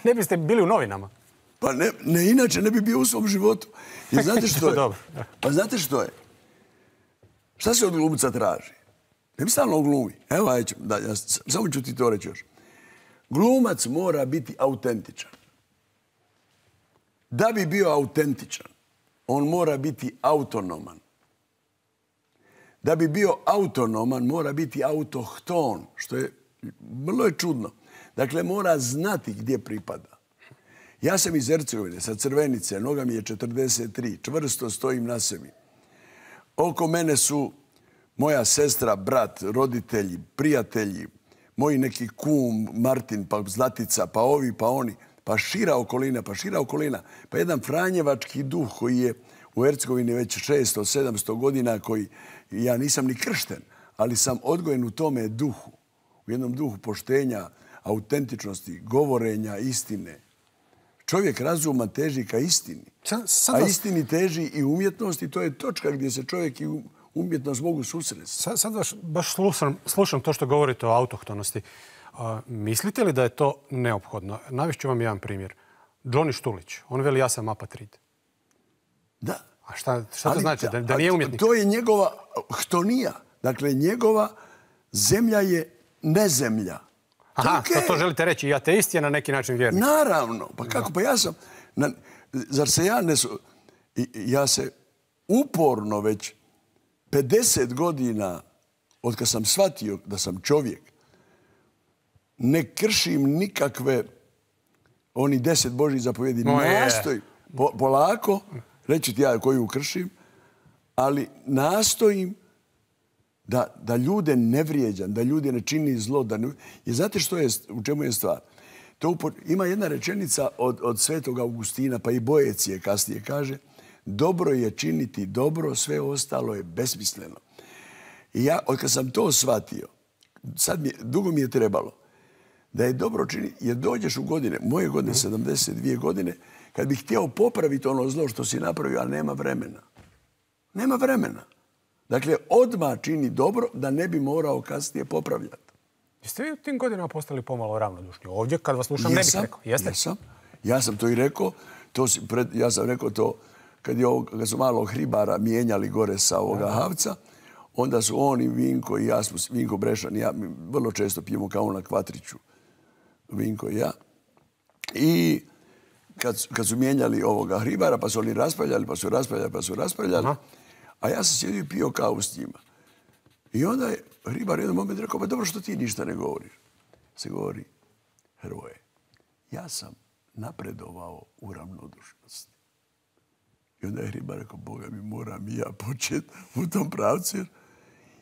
ne biste bili u novinama. Pa ne, inače ne bi bio u svom životu. I znate što je? Pa znate što je? Šta se od glumca traži? Ne bi stalno glumi. Evo, samo ću ti to reći još. Glumac mora biti autentičan. Da bi bio autentičan, on mora biti autonoman. Da bi bio autonoman, mora biti autohton, što je vrlo je čudno. Dakle, mora znati gdje pripada. Ja sam iz Hercegovine, sa Crvenice, noga mi je 43, čvrsto stojim na sebi. Oko mene su moja sestra, brat, roditelji, prijatelji, moji neki kum, Martin, pa Zlatica, pa ovi, pa oni, pa šira okolina, pa jedan franjevački duh koji je u Hercegovini već 600-700 godina, koji ja nisam ni kršten, ali sam odgojen u tome duhu, u jednom duhu poštenja, autentičnosti, govorenja, istine. Čovjek razuma teži ka istini, a istini teži i umjetnost i to je točka gdje se čovjek i umjetnost mogu susresti. Sad baš slušam to što govorite o autohtonosti. Mislite li da je to neophodno? Navešću vam jedan primjer. Johnny Štulić, on veli ja sam apatrid. Da. A šta to znači? Da nije umjetnik? To je njegova htonija. Dakle, njegova zemlja je nezemlja. Aha, to želite reći. I ateist je na neki način vjernik. Naravno. Pa kako? Pa ja sam... Zar se ja ne... Ja se uporno već 50 godina od kad sam shvatio da sam čovjek, ne kršim nikakve oni 10 Božjih zapovjedi. Nastojim polako, reći ti ja koju kršim, ali nastojim da ljude ne vrijeđam, da ljude ne čini zlo. I znate u čemu je stvar? Ima jedna rečenica od Svetog Augustina, pa i Boecije kasnije kaže, dobro je činiti dobro, sve ostalo je besmisleno. I ja, od kad sam to shvatio, dugo mi je trebalo, da je dobro činiti, jer dođeš u godine, moje godine, 72 godine, kad bih htio popraviti ono zlo što si napravio, ali nema vremena. Nema vremena. Dakle, odmah čini dobro da ne bi morao kasnije popravljati. Jeste vi u tim godinama postali pomalo ravnodušni? Ovdje, kad vas slušam, ne bih rekao. Jeste? Jesam. Ja sam to i rekao. Ja sam rekao to kad su malo Hribara mijenjali gore sa ovoga Havca. Onda su on i Vinko i ja, Vinko Brešan i ja, vrlo često pijemo kao na Kvatriću. Vinko i ja. I kad su mijenjali ovoga Hribara, pa su oni raspravljali. A ja sam sjedio i pio kavu s njima. I onda je Hribar jedan moment rekao, pa dobro što ti ništa ne govoriš. Se govori, Hrvoje, ja sam napredovao u ravnodušnosti. I onda je Hribar rekao, Boga mi, moram i ja početi u tom pravcu.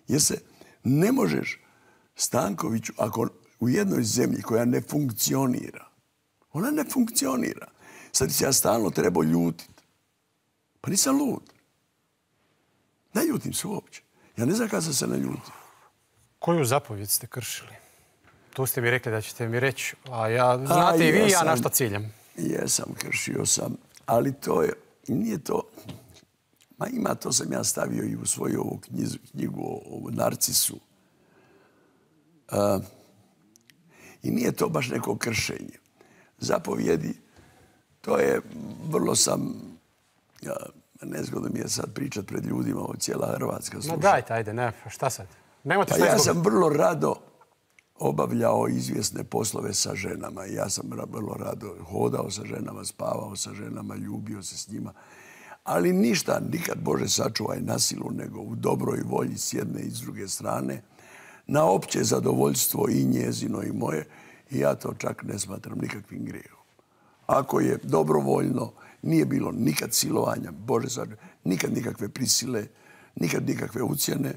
Jer se ne možeš Stankoviću, ako u jednoj zemlji koja ne funkcionira, ona ne funkcionira. Sad se ja stalno trebao ljutiti. Pa nisam lud. Ne ljutim se uopće. Ja ne znam kada sam se naljutio. Koju zapovjed ste kršili? Tu ste mi rekli da ćete mi reći, a ja znate i vi ja na što ciljam. Jesam, kršio sam, ali to je, nije to, ima to sam ja stavio i u svoju ovu knjigu o Narcisu. I nije to baš neko kršenje. Zapovjedi, to je, vrlo sam, nezgodno mi je sad pričat pred ljudima, ovo cijela Hrvatska sluša. Dajte, ajde, ne, šta sad? Ja sam vrlo rado obavljao izvjesne poslove sa ženama. Ja sam vrlo rado hodao sa ženama, spavao sa ženama, ljubio se s njima. Ali ništa, nikad, Bože sačuvaj, na silu, nego u dobroj volji s jedne i s druge strane, na opće zadovoljstvo i njezino i moje. I ja to čak ne smatram nikakvim grijehom. Ako je dobrovoljno, nije bilo nikad silovanja, Bože sačuvaj, nikad nikakve prisile, nikad nikakve ucjene,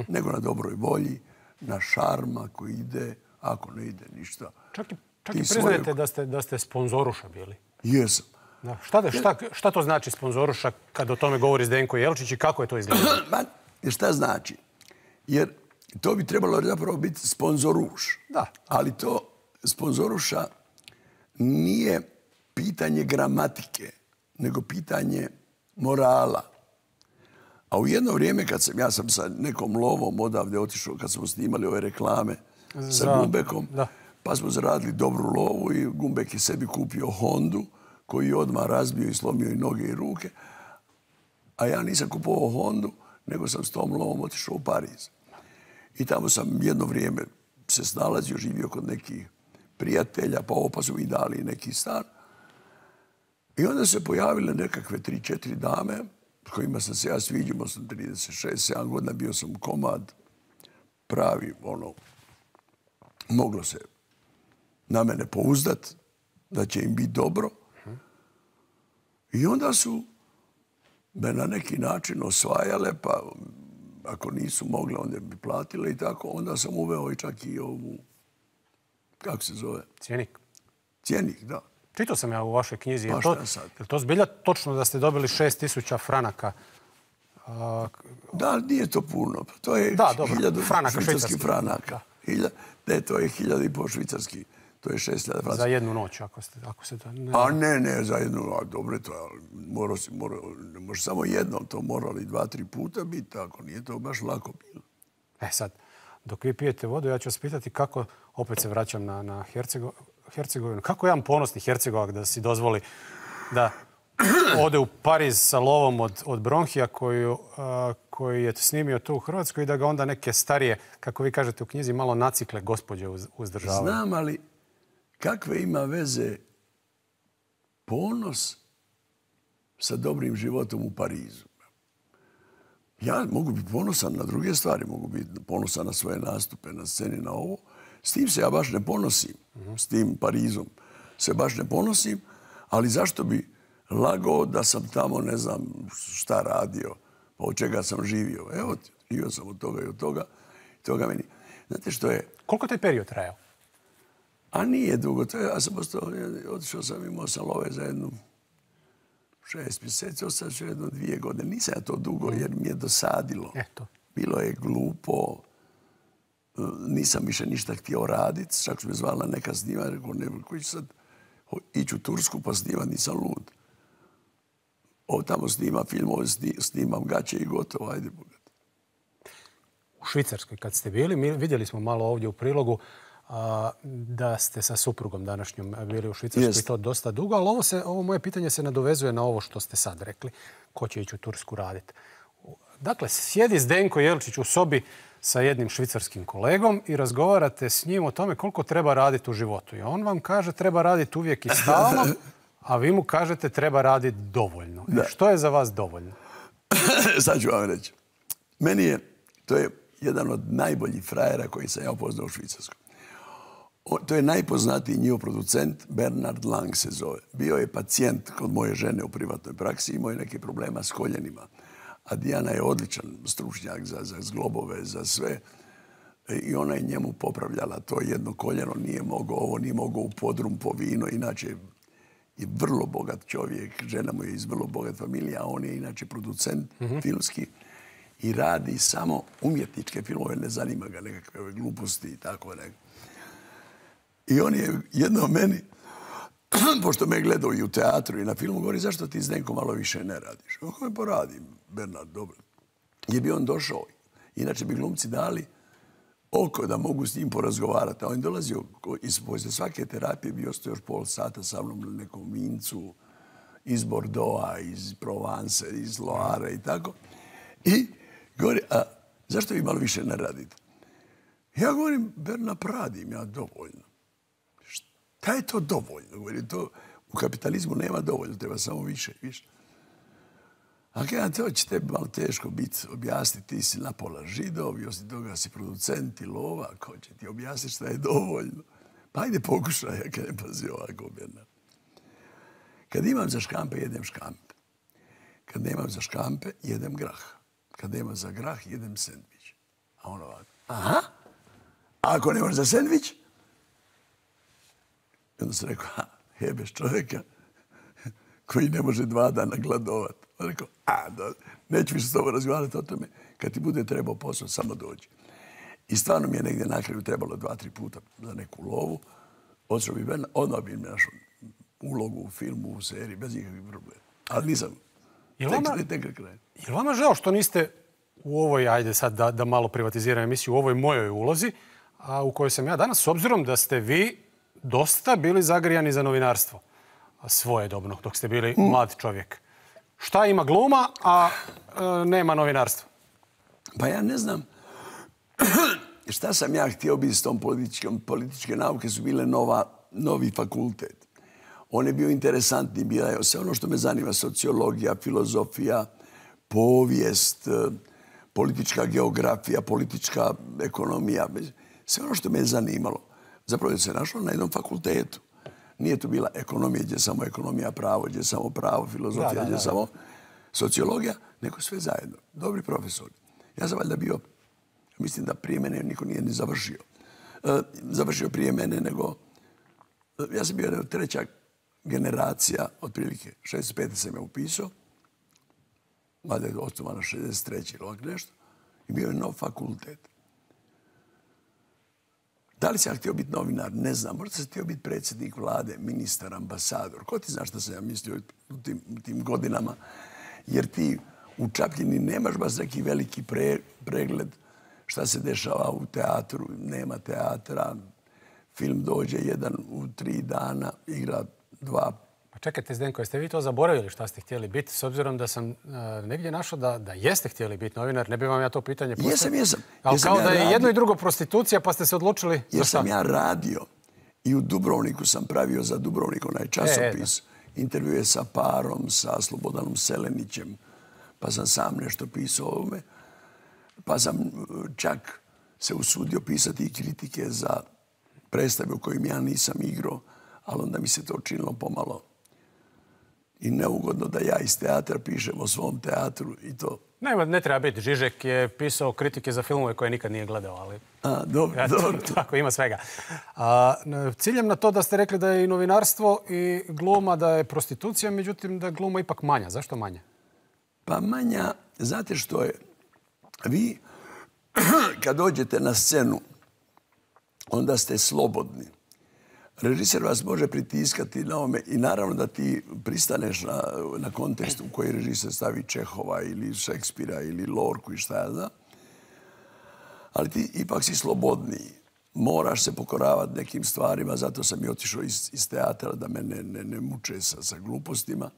nego na dobroj volji, na šarma koji ide, ako ne ide ništa. Čak i priznajete da ste sponzoruša bili. Jesam. Šta to znači sponzoruša kad o tome govori Zdenko Jelčić i kako je to izgledalo? Šta znači? Jer to bi trebalo zapravo biti sponzoruš. Da. Ali to sponzoruša nije pitanje gramatike, nego pitanje morala. A u jedno vrijeme ja sam sa nekom lovom odavde otišao, kad smo snimali ove reklame sa Gumbekom, pa smo zaradili dobru lovu i Gumbek je sebi kupio Hondu, koji je odmah razbio i slomio i noge i ruke. A ja nisam kupovao Hondu, nego sam s tom lovom otišao u Pariz. I tamo sam jedno vrijeme se snalazio, živio kod nekih prijatelja, pa su mi dali neki stan. I onda se pojavile nekakve 3-4 dame s kojima sam se ja sviđao, sam 36-7 godina, bio sam komad, pravi, moglo se na mene pouzdat, da će im biti dobro. I onda su me na neki način osvajale, pa ako nisu mogle, onda bi platile i tako. Onda sam uveo i čak i ovu, kako se zove? Cjenik. Cjenik, da. Čitao sam ja u vašoj knjizi. Pa šta sad? Je to zbilja točno da ste dobili 6.000 franaka? Da, nije to puno. To je 1000 švicarskih franaka. Ne, to je 1.500 švicarskih. To je 6.000 franaka. Za jednu noć, ako se to... A ne, za jednu noć. Dobro je to. Ne može samo jednom, to morali 2-3 puta biti tako. Nije to baš lako bilo. Sad, dok vi pijete vodu, ja ću vas pitati kako, opet se vraćam na Hercegovinu, kako jedan ponosni Hercegovak da si dozvoli da ode u Pariz sa lovom od Bronhija koji je snimio to u Hrvatskoj i da ga onda neke starije, kako vi kažete u knjizi, malo nacikle gospođe uzdržavaju. Znam, ali kakve ima veze ponos sa dobrim životom u Parizu? Ja mogu biti ponosan na druge stvari, mogu biti ponosan na svoje nastupe, na sceni, na ovo. S tim se ja baš ne ponosim. S tim Parizom se baš ne ponosim, ali zašto bi lagao da sam tamo, ne znam šta radio, pa od čega sam živio. Evo, živio sam od toga i od toga. Toga meni. Znate što je? Koliko je taj period trajao? A nije dugo. Ja sam otišao sam, imao sam love za jednu 6 mjeseci, ostao sam jedno 2 godine. Nisam ja to dugo jer mi je dosadilo. Bilo je glupo. Nisam više ništa htio raditi. Čak su me zvala neka snima. Rekao, ne, koji ću sad ići u Tursku pa snimati, nisam lud. Tamo snima film, snimam gaće i gotovo, ajde bogat. U Švicarskoj kad ste bili, vidjeli smo malo ovdje u prilogu da ste sa suprugom današnjom bili u Švicarskoj i to dosta dugo, ali ovo moje pitanje se nadovezuje na ovo što ste sad rekli. Ko će ići u Tursku raditi? Dakle, sjedi Zdenko Jelčić u sobi sa jednim švicarskim kolegom i razgovarate s njim o tome koliko treba raditi u životu. I on vam kaže treba raditi uvijek i stalno, a vi mu kažete treba raditi dovoljno. Što je za vas dovoljno? Sad ću vam reći. To je jedan od najboljih frajera koji sam ja upoznao u Švicarskoj. To je najpoznatiji njihov producent, Bernard Lang se zove. Bio je pacijent kod moje žene u privatnoj praksi, imao je neke problema s koljenima. A Dijana je odličan stručnjak za zglobove, za sve. I ona je njemu popravljala to jedno koljeno, nije mogao u podrum po vino, inače je vrlo bogat čovjek, žena mu je iz vrlo bogat familije, a on je inače producent filmski i radi samo umjetničke filmove, ne zanima ga nekakve gluposti i tako nekako. I on je jedno meni, pošto me gledao i u teatru i na filmu, govori zašto ti Zdenko malo više ne radiš? Kako me poradim, Bernard, dobro. Gdje bi on došao? Inače bi glumci dali oko da mogu s njim porazgovarati. A on je dolazio poslije svake terapije, bio ste još pol sata sa mnom na nekom vincu iz Bordeauxa, iz Provence, iz Loire i tako. I govori, a zašto vi malo više ne radite? Ja govorim, Bernard, radim ja dovoljno. Šta je to dovoljno? Govori, to u kapitalizmu nema dovoljno, treba samo više. A kada to će tebi malo teško biti objasniti, ti si napola Židov i osim toga si producent i lova, ko će ti objasniti šta je dovoljno? Pa ajde pokušaj, ja kad ne pazi ovako, Bernard. Kad imam za škampe, jedem škampe. Kad nemam za škampe, jedem grah. Kad nemam za grah, jedem sendvič. A on ovako, aha, a ako nemaš za sendvič? I onda sam rekao, jebeš čovjeka koji ne može 2 dana gladovat. On rekao, neću više s tobom razgovarati o tome. Kad ti bude trebao posao, samo dođi. I stvarno mi je negdje na kraju trebalo 2-3 puta za neku lovu. Odšao bi Bernard, odmah bi mi našao ulogu u filmu, u seriji, bez ikakvih problema. Ali nisam. Je li vama žao što niste u ovoj, ajde sad da malo privatiziram emisiju, u ovoj mojoj ulozi, a u kojoj sam ja danas, s obzirom da ste vi dosta bili zagrijani za novinarstvo svojedobno, dok ste bili mlad čovjek. Šta ima gluma, a nema novinarstva? Pa ja ne znam šta sam ja htio biti s tom političke nauke, su bile novi fakultet. On je bio interesantni, bio je sve ono što me zanima, sociologija, filozofija, povijest, politička geografija, politička ekonomija, sve ono što me je zanimalo. Zapravo je se našlo na jednom fakultetu. Nije tu bila ekonomija, gdje je samo ekonomija, pravo, gdje je samo pravo, filozofija, gdje je samo sociologija, nego sve zajedno. Dobri profesori. Ja sam valjda bio, mislim da prije mene niko nije ni završio. Završio prije mene, nego ja sam bio treća generacija, otprilike 65. sam je upisao, valjda je osnovana 63. ili ovak nešto, i bio je nov fakultet. Da li sam ja htio biti novinar? Ne znam. Možda sam htio biti predsjednik vlade, ministar, ambasador. Ko ti zna što sam ja mislio u tim godinama? Jer ti u Čapljini nemaš baš neki veliki pregled šta se dešava u teatru. Nema teatra. Film dođe jedan u 3 dana, igra 2. Pa čekajte, Zdenko, jeste vi to zaboravili šta ste htjeli biti? S obzirom da sam negdje našao da jeste htjeli biti novinar, ne bi vam ja to pitanje postavio. Jesam. Ali kao da je jedno i drugo prostitucija, pa ste se odlučili za šta? Jesam ja radio i u Dubrovniku sam pravio za Dubrovnik onaj časopis. Intervjue sa Parom, sa Slobodanom Selenićem, pa sam sam nešto pisao o ovome. Pa sam čak se usudio pisati i kritike za predstave u kojim ja nisam igrao, ali onda mi se to činilo pomalo i neugodno da ja iz teatra pišem o svom teatru i to. Ne treba biti. Žižek je pisao kritike za filmove koje nikad nije gledao, ali... Dobro. Tako, ima svega. Ciljem na to da ste rekli da je i novinarstvo i gluma, da je prostitucija, međutim da je gluma ipak manja. Zašto manja? Pa manja, znate što je? Vi, kad dođete na scenu, onda ste slobodni. Režiser vas može pritiskati na ome i naravno da ti pristaneš na kontekst u koji režiser stavi Čehova ili Šekspira ili Lorku i šta ja znam. Ali ti ipak si slobodniji. Moraš se pokoravati nekim stvarima, zato sam i otišao iz teatra da me ne muče sa glupostima.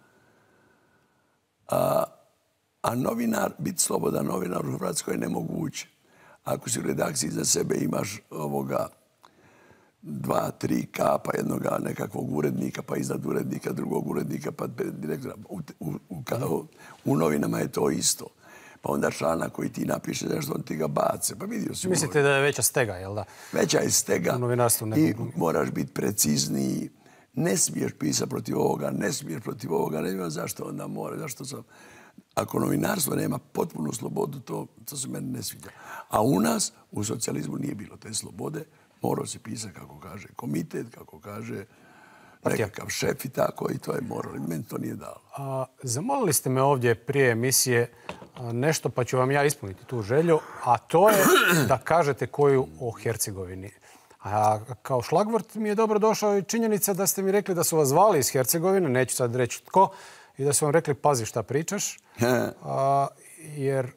A novinar, biti slobodan novinar u Hrvatskoj je nemoguće. Ako si u redakciji za sebe imaš 2-3 kapa jednoga nekakvog urednika, pa iznad urednika drugog urednika, pa direktora. U novinama je to isto. Pa onda članak koji ti napiše nešto, on ti ga bace. Pa vidio si. Mislite da je veća stega, jel da? Veća je stega i moraš biti precizniji. Ne smiješ pisati protiv ovoga, ne smiješ protiv ovoga. Ne znam zašto onda mora, zašto sam... Ako novinarstvo nema potpunu slobodu, to se meni ne sviđa. A u nas, u socijalizmu, nije bilo te slobode. Morao se pisati kako kaže komitet, kako kaže nekakav šef i tako, i to je moralo. Meni to nije dalo. Zamolili ste me ovdje prije emisije nešto, pa ću vam ja ispuniti tu želju, a to je da kažete koju o Hercegovini. A kao šlagvort mi je dobro došao i činjenica da ste mi rekli da su vas zvali iz Hercegovine, neću sad reći tko, i da su vam rekli pazi šta pričaš, jer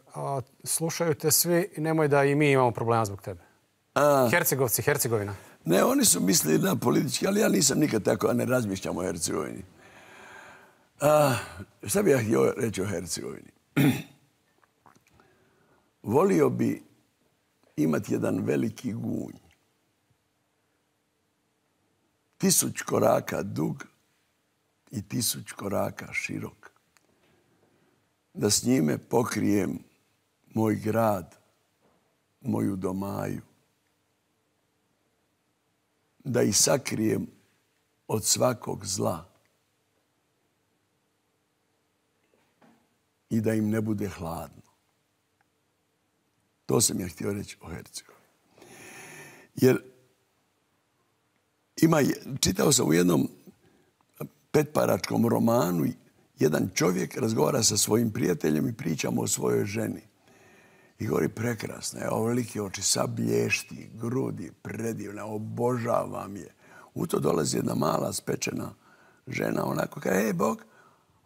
slušaju te svi i nemoj da i mi imamo problema zbog tebe. Hercegovci, Hercegovina. Ne, oni su mislili na politički, ali ja nisam nikad tako, a ne razmišljam o Hercegovini. Šta bih ja htio reći o Hercegovini? Volio bi imati jedan veliki gunj. 1000 koraka dug i 1000 koraka širok. Da s njime pokrijem moj grad, moju domaju. Da ih sakrijem od svakog zla. I da im ne bude hladno. To sam ja htio reći o Hercegovini. Jer čitao sam u jednom petparačkom romanu, jedan čovjek razgovara sa svojim prijateljem i pričamo o svojoj ženi. I govori, prekrasna je, ovolike oči, sad blješti, grudi, predivna, obožavam je. U to dolazi jedna mala spečena žena, onako kaže, hej, Bog.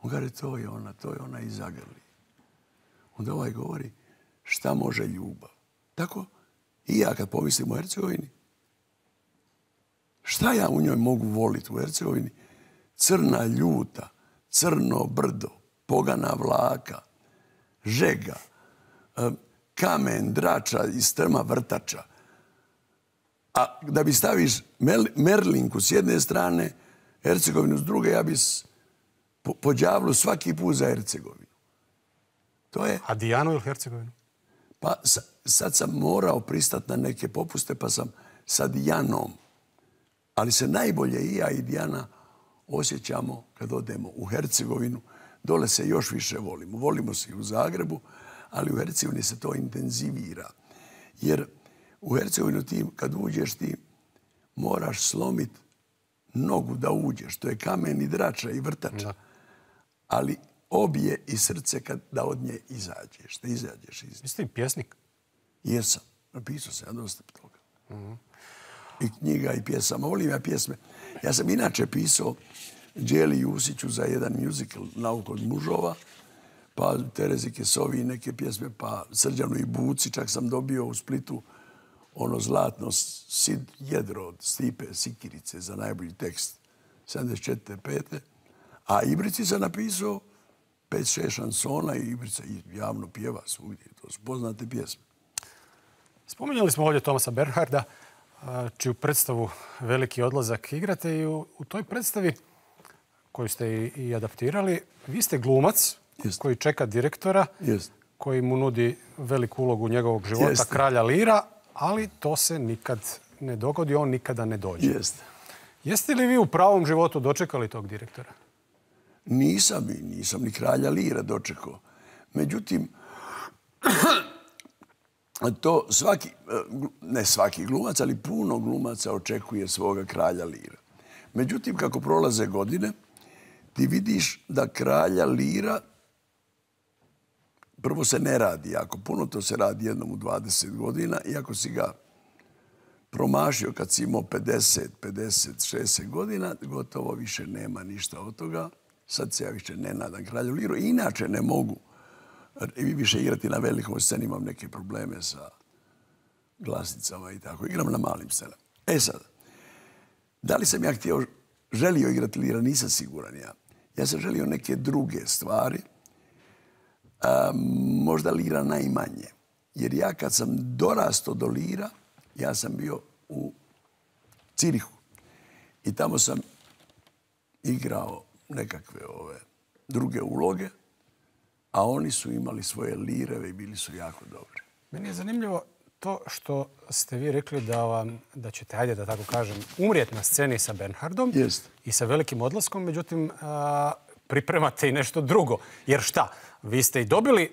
On kaže, to je ona i zagrli. Onda ovaj govori, šta može ljubav? Tako i ja kad pomislim o Hercegovini, šta ja u njoj mogu voliti u Hercegovini? Crna ljuta, crno brdo, pogana vlaka, žega, kamen, drača i strma vrtača. A da bi staviš Merlinku s jedne strane Hercegovinu s druge, ja bi po đavlu svaki put za Hercegovinu. To je... A Dijanu ili Hercegovinu? Pa sad sam morao pristati na neke popuste, pa sam sa Dijanom. Ali se najbolje i ja i Dijana osjećamo kad odemo u Hercegovinu. Dole se još više volimo. Volimo se i u Zagrebu, ali u Hercegovini se to intenzivira. Jer u Hercegovinu ti, kad uđeš, ti moraš slomiti nogu da uđeš. To je kamen i drača i vrtača. Da. Ali obje i srce da od nje izađeš. Da izađeš iz nje. Jeste i pjesnik? Jesam. Napisao sam ja dosta toga. I knjiga i pjesama. Volim ja pjesme. Ja sam inače pisao Đeli Jusiću za jedan musical Nauk od mužova, pa Terezi Kesovi neke pjesme, pa Srđanu i Buci. Čak sam dobio u Splitu ono zlatno Sid jedro od Stipe Sikirice za najbolji tekst 74. A Ibrici sam napisao 5-6 šansona i Ibrica javno pjeva svugdje. To su poznate pjesme. Spominjali smo ovdje Thomasa Bernharda, čiju predstavu Veliki odlazak igrate i u toj predstavi koju ste i adaptirali, vi ste glumac koji čeka direktora, koji mu nudi veliku ulogu njegovog života, kralja Lira, ali to se nikad ne dogodi, on nikada ne dođe. Jeste li vi u pravom životu dočekali tog direktora? Nisam ni kralja Lira dočekao. Međutim, to ne svaki glumac, ali puno glumaca očekuje svoga kralja Lira. Međutim, kako prolaze godine, ti vidiš da kralja Lira prvo se ne radi jako puno, to se radi jednom u 20 godina, iako si ga promašio kad si imao 50, 60 godina, gotovo više nema ništa od toga. Sad se ja više ne nadam kralju Liru. Inače ne mogu više igrati na velikom sceni, imam neke probleme sa glasnicama i tako. Igram na malim scenama. Sad, da li sam ja želio igrati Lira, nisam siguran ja. Ja sam želio neke druge stvari, možda Lira najmanje. Jer ja kad sam dorastao do Lira, ja sam bio u Cirihu. I tamo sam igrao nekakve druge uloge, a oni su imali svoje lireve i bili su jako dobri. Meni je zanimljivo to što ste vi rekli da ćete, ajde da tako kažem, umrijeti na sceni sa Bernhardom i sa Velikim odlaskom, međutim pripremate i nešto drugo. Jer šta? Vi ste i dobili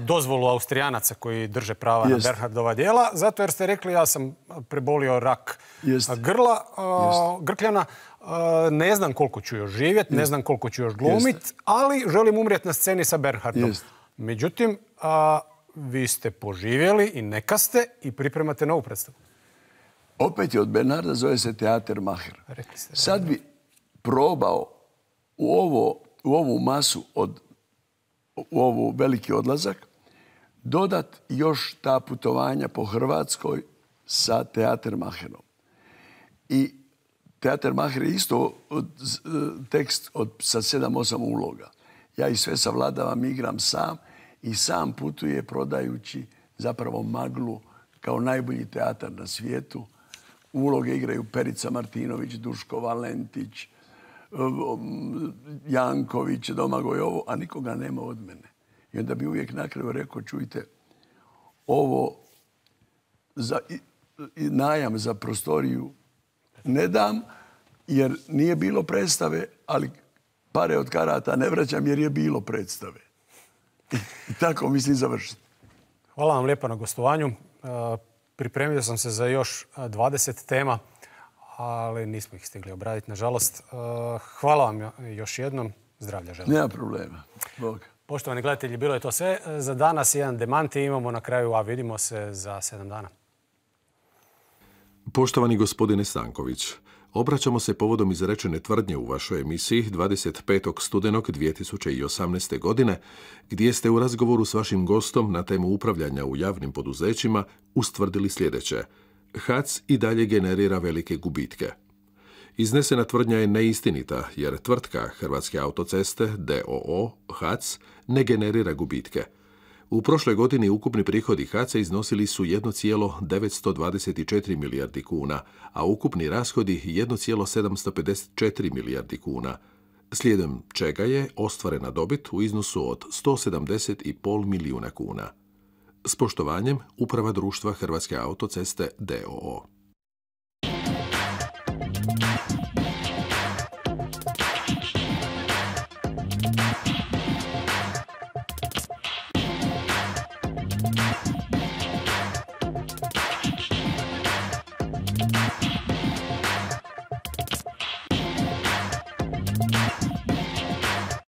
dozvolu Austrijanaca koji drže prava na Bernhardova djela, zato jer ste rekli ja sam prebolio rak grkljana, ne znam koliko ću još živjeti, ne znam koliko ću još glumiti, ali želim umrijeti na sceni sa Bernhardom. Međutim, vi ste poživjeli i neka ste i pripremate novu predstavu. Opet je od Bernharda, zove se Teater Maher. Sad bi probao u ovu masu u ovu Veliki odlazak dodat još ta putovanja po Hrvatskoj sa Teater Maherom. I Teater Maher je isto tekst sa 7-8 uloga. Ja i sve savladavam, igram sam i sam putuje prodajući zapravo maglu kao najbolji teatar na svijetu. Uloge igraju Perica Martinović, Duško Valentić, Janković, Domagoj ovo, a nikoga nema od mene. I onda bi uvijek na kraju rekao, čujte, ovo najam za prostoriju ne dam, jer nije bilo predstave, ali pare od karata ne vraćam jer je bilo predstave. I tako mislim završiti. Hvala vam lijepo na gostovanju. Pripremio sam se za još 20 tema, ali nismo ih stigli obraditi, nažalost. Hvala vam još jednom. Zdravlja želim. Nema problema. Bog. Poštovani gledatelji, bilo je to sve. Za danas jedan demanti imamo na kraju, a vidimo se za 7 dana. Poštovani gospodine Stanković, obraćamo se povodom izrečene tvrdnje u vašoj emisiji 25. studenog 2018. godine, gdje ste u razgovoru s vašim gostom na temu upravljanja u javnim poduzećima ustvrdili sljedeće. HAC i dalje generira velike gubitke. Iznesena tvrdnja je neistinita, jer tvrtka Hrvatske autoceste, d.o.o. HAC, ne generira gubitke. U prošloj godini ukupni prihodi HAC-a iznosili su 1,924 milijardi kuna, a ukupni rashodi 1,754 milijardi kuna, slijedom čega je ostvarena dobit u iznosu od 170,5 milijuna kuna. S poštovanjem, Uprava društva Hrvatske autoceste d.o.o.